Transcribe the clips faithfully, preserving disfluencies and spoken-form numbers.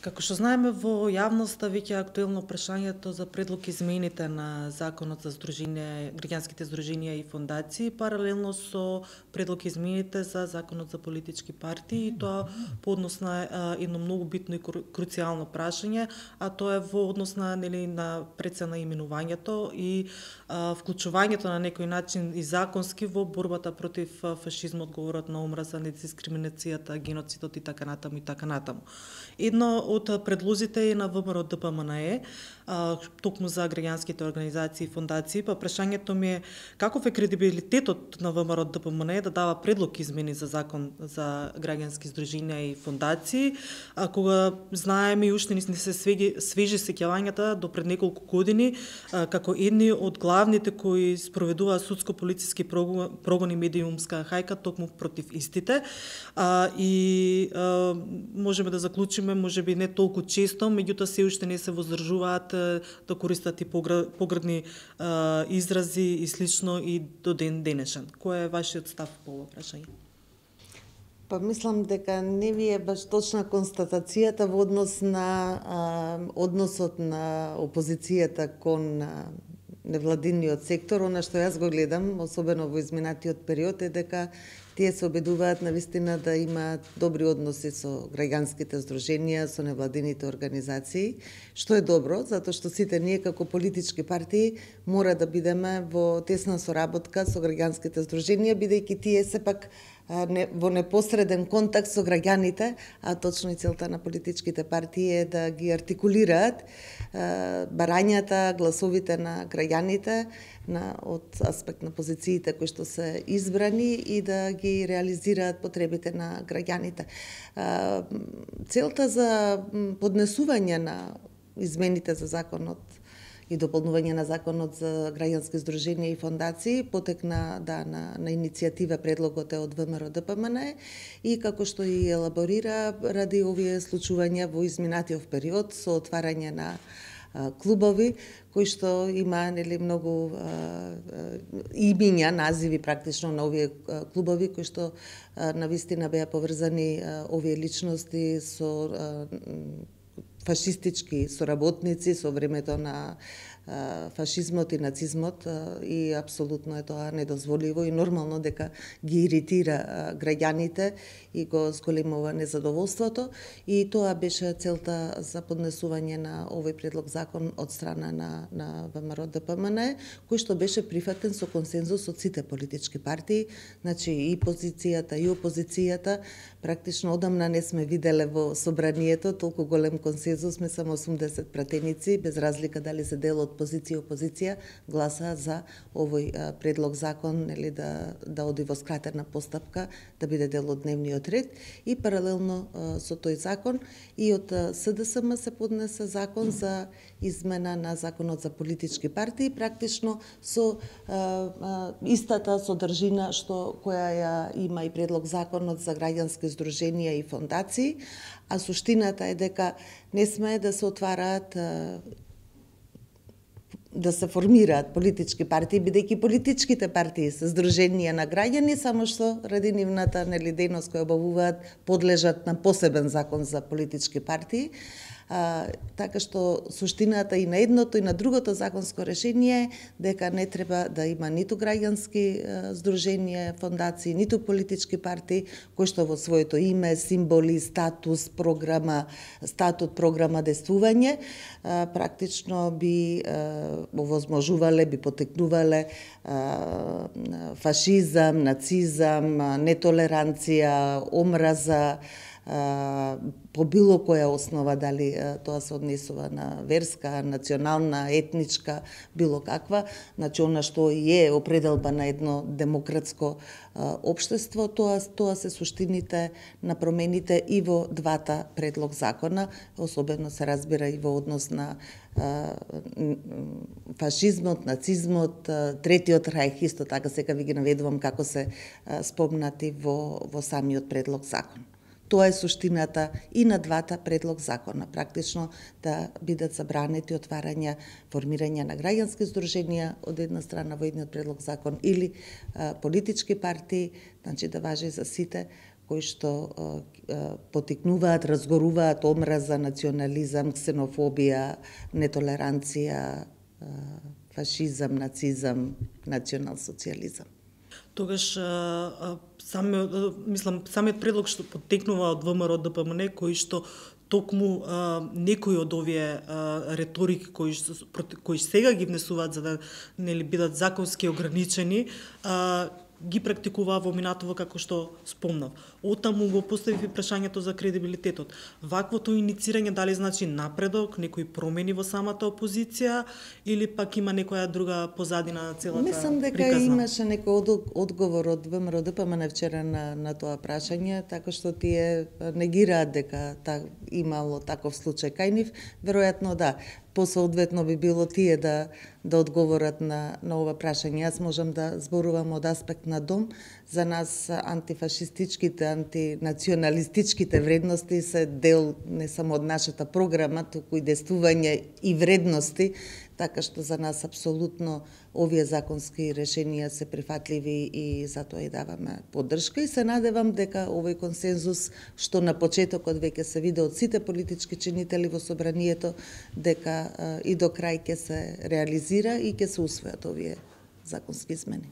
Како што знаеме, во јавноста веќе е актуелно прашањето за предлог измените на Законот за здруженија, граѓанските здруженија и фондации, паралелно со предлог измените за Законот за политички партии, и тоа по однос на едно многу битно и круцијално прашање, а тоа е во однос на, нели, на прецена именувањето и а, вклучувањето на некој начин и законски во борбата против фашизмот, говорот на омраза, недискриминацијата, геноцидот и така натаму и така натаму. Едно од предлозите е на ВМРО Д П М Н Е, токму за граѓанските организации и фондации, па прашањето ми е каков е кредибилитетот на ВМРО Д П М Н Е да дава предлог измени за закон за граѓански здруженија и фондации, а кога знаеме и уште не се свежи, свежи сеќавањата до пред неколку години, а, како едни од главните кои спроведуваа судско-полициски прогон и медиумска хајка токму против истите, а, и а, можеме да заклучиме, можеби не толку често, меѓутоа се уште не се воздржуваат да користат и поградни а, изрази и слично и до ден денешен. Кој е вашиот став по ова прашање? Па мислам дека не ви е баш точна констатацијата во однос на а, односот на опозицијата кон а, невладиниот сектор. Она што јас го гледам, особено во изминатиот период, е дека тие се обидуваат навистина да имаат добри односи со граѓанските здруженија, со невладините организации, што е добро, затоа што сите ние како политички партии мора да бидеме во тесна соработка со граѓанските здруженија, бидејќи тие сепак во непосреден контакт со граѓаните, а точно и целта на политичките партии е да ги артикулираат барањата, гласовите на граѓаните на, од аспект на позициите кои што се избрани и да ги реализираат потребите на граѓаните. Целта за поднесување на измените за законот и дополнување на законот за граѓански здруженија и фондации потекна да на, на иницијатива, предлогот е од ВМРО Д П М Н Е, и како што и елаборира ради овие случувања во изминатиот период со отварање на а, клубови кои што има, нели, многу имиња, називи практично на овие а, клубови кои што а, навистина беа поврзани а, овие личности со а, фашистички соработници со времето на а, фашизмот и нацизмот, а, и апсолутно е тоа недозволиво и нормално дека ги иритира а, граѓаните и го зголемува незадоволството, и тоа беше целта за поднесување на овој предлог закон од страна на, на ВМРО Д П М Н Е, кој што беше прифатен со консензус од сите политички партии, значи и позицијата и опозицијата. Практично одамна не сме виделе во собранието толку голем консензус, сме само осумдесет пратеници, без разлика дали се дел од позиција и опозиција, гласа за овој а, предлог закон, нели, да, да оди во скратена постапка, да биде дел од дневниот ред, и паралелно а, со тој закон и од С Д С М се поднесе закон за измена на законот за политички партии, практично со а, а, истата содржина што која ја има и предлог законот за граѓански здруженија и фондации, а суштината е дека не смее да се отвараат, да се формираат политички партии, бидејќи политичките партии се здруженија на граѓани, само што ради нивната, нели, дејност која обавуваат подлежат на посебен закон за политички партии. А, така што суштината и на едното и на другото законско решение е дека не треба да има ниту граѓански здруженија, фондации, ниту политички партии кои што во своето име, символи, статус, програма, статут, програма, действување а, практично би а, овозможувале, би потекнувале а, фашизам, нацизам, нетолеранција, омраза, по било која основа, дали тоа се однесува на верска, национална, етничка, било каква, значи она што и е определба на едно демократско а, општество, тоа, тоа се суштините на промените и во двата предлог закона, особено се разбира и во однос на а, фашизмот, нацизмот, а, третиот рајх, исто така сега ви ги наведувам како се а, спомнати во, во самиот предлог закон. Тоа е суштината и на двата предлог закона, практично да бидат забранети отварања, формирање на граѓански здруженија од една страна во едниот предлог закон или а, политички партии, значи да важи за сите кои што потикнуваат, разгоруваат омраза, национализам, ксенофобија, нетолеранција, фашизам, нацизам, национал-социјализам. Тогаш сами, мислам, самиот предлог што потекнува од ВМРО Д П М Н, кои што токму а, некои од овие а, риторики кои кои сега ги внесуваат за да нели бидат законски ограничени, а, ги практикуваа во минатово како што спомнав. Оттаму го поставив и прашањето за кредибилитетот. Ваквото иницирање дали значи напредок, некои промени во самата опозиција или пак има некоја друга позадина на целата приказна? Мислам дека приказна. Имаше некој одговор од ВМРО Д П М Н вчера на, на тоа прашање, така што тие негираат дека та, имало таков случај кај нив. Веројатно да. Посоодветно би било тие да да одговорат на на ова прашање. Јас можам да зборувам од аспект на дом. За нас антифашистичките, антинационалистичките вредности се дел не само од нашата програма, туку и действување и вредности, така што за нас апсолутно овие законски решенија се прифатливи и затоа и даваме поддршка и се надевам дека овој консензус што на почетокот веќе се виде од сите политички чинители во собранието, дека а, и до крај ќе се реализира и ќе се усвојат овие законски измени.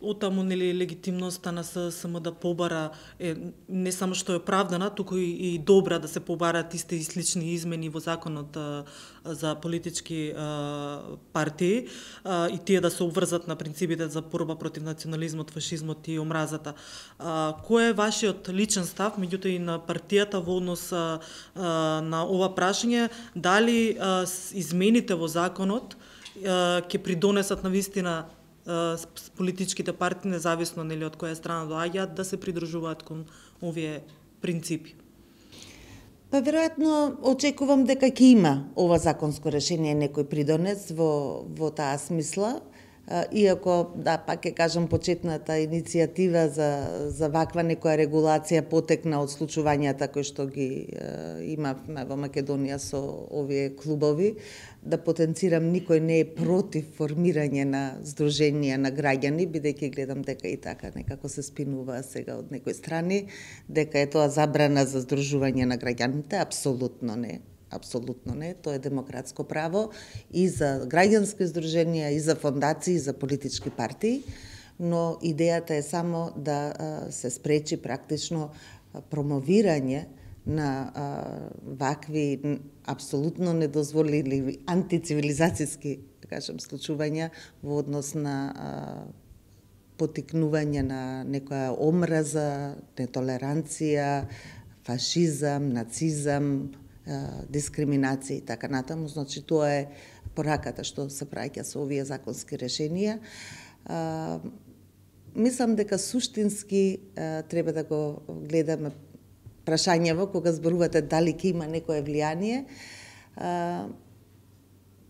Оттаму нели легитимноста на С С М да побара е не само што е оправдана, туку и, и добра да се побарат исти и слични измени во законот а, за политички а, партии а, и тие да се обврзат на принципите за борба против национализмот, фашизмот и омразата. А, кој е вашиот личен став, меѓутоа и на партијата во однос а, а, на ова прашање, дали а, измените во законот а, ќе придонесат на вистина политичките партии, независно нели од која страна доаѓаат, да се придружуваат кон овие принципи? Па веројатно очекувам дека ќе има ова законско решение некој придонес во во таа смисла. Иако, да, пак ќе кажам, почетната иницијатива за, за ваква некоја регулација потекна од случувањата кои што ги е, имавме во Македонија со овие клубови. Да потенцирам, никој не е против формирање на здруженија на граѓани, бидејќи гледам дека и така некако се спинува сега од некои страни, дека е тоа забрана за здружување на граѓаните, апсолутно не. Апсолутно не, тоа е демократско право и за граѓански здруженија, и за фондации, и за политички партии, но идејата е само да се спречи практично промовирање на а, вакви апсолутно недозволиви антицивилизацијски, да кажем, случувања во однос на а, потикнување на некоја омраза, нетолеранција, фашизам, нацизам, дискриминација и така натаму. Значи, тоа е пораката што се праќа со овие законски решенија. А, мислам дека суштински а, треба да го гледаме прашањево кога зборувате дали ќе има некое влијание. А,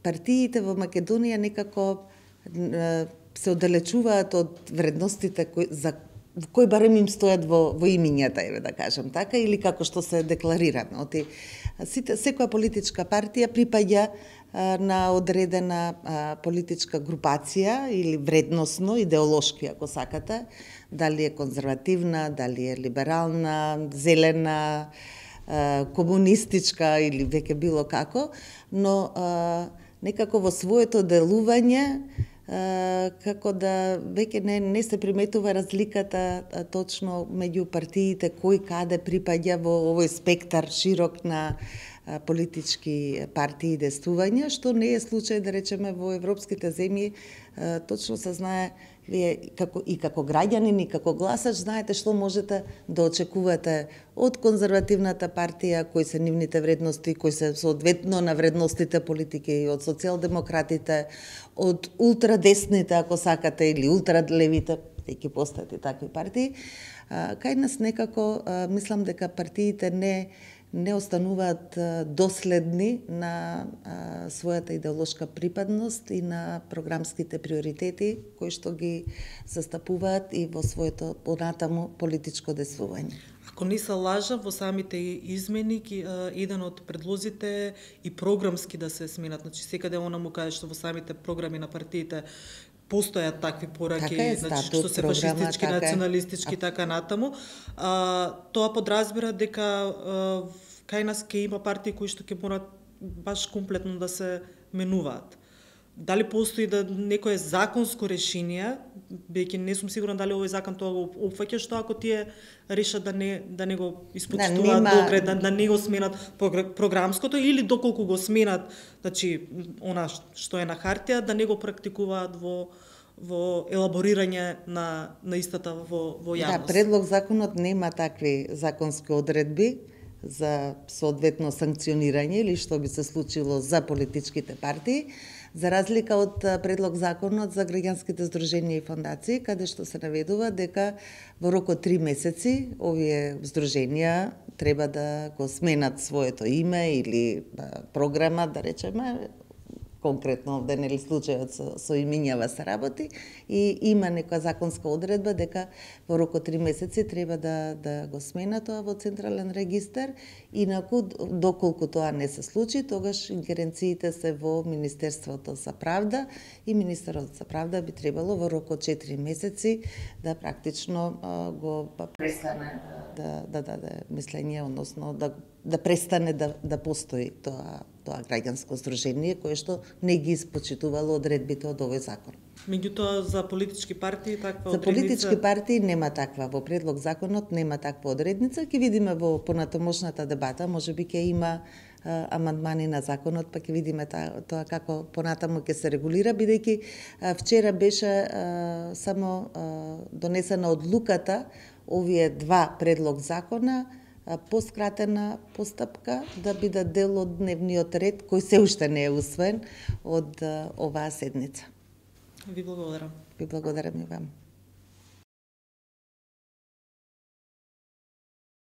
партиите во Македонија некако а, се оддалечуваат од вредностите кои, за кои барем им стојат во, во имињата, еве да кажам така, или како што се декларирано. Оти, сите, секоја политичка партија припаѓа а, на одредена а, политичка групација или вредносно, идеолошки, ако сакате, дали е конзервативна, дали е либерална, зелена, а, комунистичка или веќе било како, но а, некако во своето делување Uh, како да веќе не, не се приметува разликата а, точно меѓу партиите кој каде припаѓа во овој спектар широк на а, политички партии и действувања, што не е случај, да речеме, во европските земји. А, точно се знае, вие како, и како граѓанин и како гласач знаете што можете да очекувате од конзервативната партија, кои се нивните вредности, кои се соодветно на вредностите политики, од социјалдемократите, од ултрадесните, ако сакате, или ултрадлевите, ќе постојат и такви партии. А, кај нас некако, а, мислам дека партиите не не остануваат доследни на а, својата идеолошка припадност и на програмските приоритети кои што ги застапуваат и во своето понатаму политичко действување. Ако не се лажа, во самите измени, еден од предлозите и програмски да се сменат. Значи, секаде она му каже што во самите програми на партиите постојат такви пораки, така е, значи, статут, што се програма, фашистички, така е. националистички, така натаму. А, тоа подразбира дека а, кај нас ќе има партии кои што ќе морат баш комплетно да се менуваат. Дали постои да некое законско решение, бејќи не сум сигурна дали овој закон тоа го опфаќа, што ако тие решат да не да не го испочитуваат да, нема... добре, да, да не го сменат програмското или доколку го сменат, значи она што е на хартија, да не го практикуваат во во елаборирање на на истата во во јавност. Да, предлог законот нема такви законски одредби за соодветно санкционирање или што би се случило за политичките партии, за разлика од предлог законот за граѓанските здруженија и фондации, каде што се наведува дека во рок од три месеци овие здруженија треба да го сменат своето име или програма, да речеме, конкретно овде нели случајот со, со имињава се работи и има некоја законска одредба дека во рок од три месеци треба да да го смена тоа во централен регистар, инаку доколку тоа не се случи, тогаш ингеренциите се во Министерството за правда и Министерот за правда би требало во рок од четири месеци да практично а, го престане да да даде мислење, односно да да престане да да постои тоа тоа граѓанско здружение кое што не ги испочитувало одредбите од овој закон. Меѓутоа за политички партии таква за одредница... политички партии нема таква, во предлог законот нема таква одредница, ќе видиме во понатамошната дебата, можеби ќе има а, амандмани на законот, па ќе видиме та, тоа како понатаму ќе се регулира, бидејќи а, вчера беше а, само а, донесена одлуката овие два предлог закона по скратена постапка да бидат дел од дневниот ред кој се уште не е усвоен од оваа седница. Ви благодарам. Ви благодарам и вам.